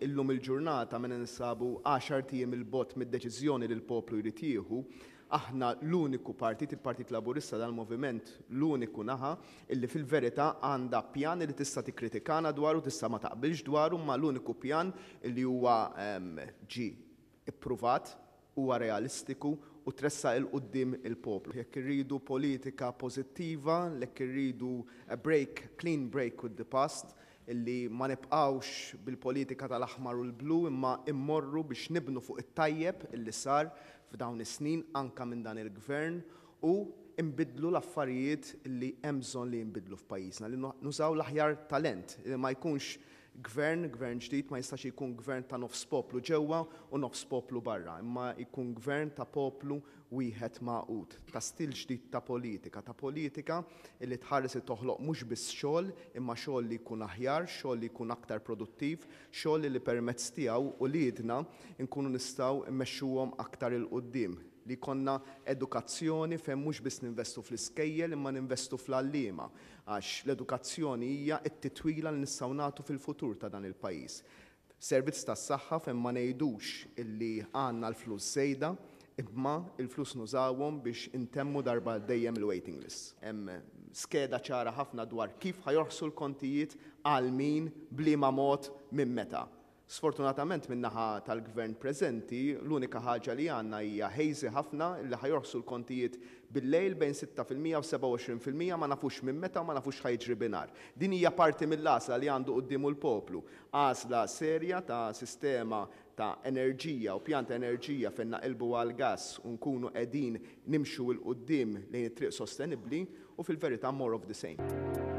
Illum il-ġurnata meta ninsabu għaxart ijiem 'il bogħod mid-deċiżjoni li l-poplu jrid jieħu, aħna l-uniku partit, il-Partit Laburista dal-moviment, l-uniku naħa illi fil-verità għandha pjan li tista' tikkritikana dwaru, tista' ma taqbilx dwaru, imma l-uniku pjan illi huwa ġie ippruvat, huwa realistiku u tressaq 'il quddiem il-poplu. Jekk irridu politika pożittiva, jekk irridu a break, clean break with the past, illi ma nibqgħux bil-politika tal-aħmar u l-blu imma immorru biex nibnu fuq it-tajjeb illi sar f'dawn is-snin anka minn dan il-gvern u nbiddlu l-affarijiet li hemm bżonn li jinbidlu f'pajjiżna, li nużaw l-aħjar talent, li ma jkunx gvern, gvern ġdid ma jistax jkun gvern ta' nofs poplu ġewwa u nofs poplu barra, imma jkun gvern ta' poplu wieħed magħqud, ta' stil ġdid ta' politika, ta' politika li tħares li toħloq mhux biss xogħol, imma xogħol li jkun aħjar, xogħol li jkun aktar produttiv, xogħol li permezz tiegħu uliedna nkunu nistgħu mmexxuhom aktar 'il quddiem, li jkollna edukazzjoni fejn mhux biss ninvestu fl-iskejjel imma ninvestu fl-għalliema, għax l-edukazzjoni hija t-titwila li nistgħu nagħtu fil-futur ta' dan il-pajjiż. Servizz tas-saħħa fejn ma ngħidux illi għandna l-flus żejda, imma l-flus nużawhom biex intemmu darba dejjem il-waiting list. Hemm skeda ċara ħafna dwar kif ħa jorħsu l-kontijiet, għal min, b'liema mod, minn meta. Sfortunatament min-naħa tal-gvern preżenti, l-unika ħaġa li għandna hija hazy ħafna li ħa jorħsu l-kontijiet bil-lejl bejn 6% u 27%, ma nafux minn meta u ma nafux x'ħa jiġri binhar. Din hija parti mill-għażla li għandu quddiemu l-poplu. Għażla serja ta' sistema ta' enerġija u pjan ta' enerġija fejn naqilbu għal gas u nkunu qegħdin nimxu 'l quddiem lejn it-triq sostenibbli u fil-verità more of the same.